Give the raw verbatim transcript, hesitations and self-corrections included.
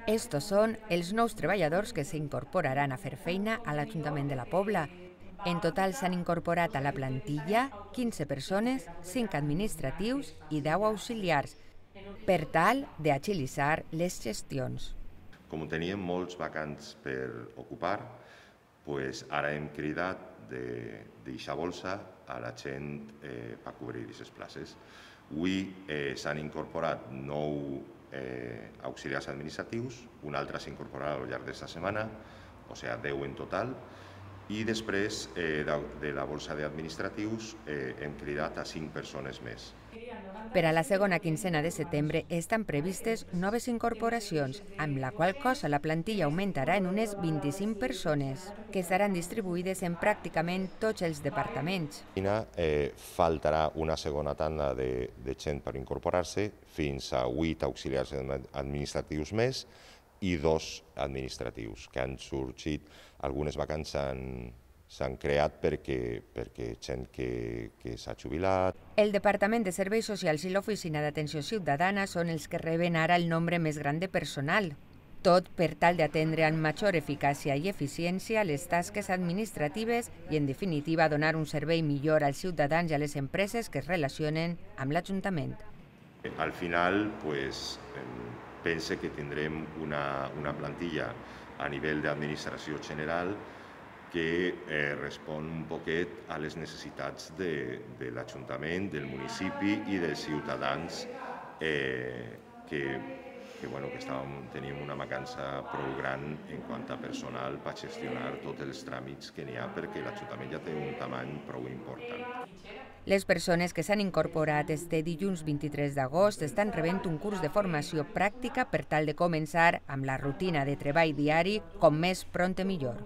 Estos són els nous treballadors que s'incorporaran a fer feina a l'Ajuntament de la Pobla. En total s'han incorporat a la plantilla quinze persones, cinc administratius i deu auxiliars, per tal d'agilitzar les gestions. Com teníem molts vacants per ocupar, pues ara hem cridat de deixar bolsa a la gent eh, per cobrir aquestes places. Avui eh, s'han incorporat nou eh, auxiliars administratius, un altre s'incorporarà al llarg d'esta setmana, o sigui, deu en total, i després eh, de, de la bolsa d'administratius eh, hem cridat a cinc persones més. Per a la segona quinzena de setembre estan previstes noves incorporacions, amb la qual cosa la plantilla augmentarà en unes vint-i-cinc persones, que seran distribuïdes en pràcticament tots els departaments. Eh, faltarà una segona tanda de, de gent per incorporar-se, fins a vuit auxiliars administratius més i dos administratius, que han sorgit, algunes vacants s'han creat perquè, perquè gent que, que s'ha jubilat. El Departament de Serveis Socials i l'Oficina d'Atenció Ciutadana són els que reben ara el nombre més gran de personal, tot per tal d'atendre amb major eficàcia i eficiència les tasques administratives i, en definitiva, donar un servei millor als ciutadans i a les empreses que es relacionen amb l'Ajuntament. Al final, pues, pense que tindrem una, una plantilla a nivell d'administració general que eh, respon un poquet a les necessitats de, de l'Ajuntament, del municipi i dels ciutadans eh, que, que, bueno, que estàvem, teníem una mancança prou gran en quant a personal per gestionar tots els tràmits que n'hi ha, perquè l'Ajuntament ja té un tamany prou important. Les persones que s'han incorporat este dilluns vint-i-tres d'agost estan rebent un curs de formació pràctica per tal de començar amb la rutina de treball diari com més prompte millor.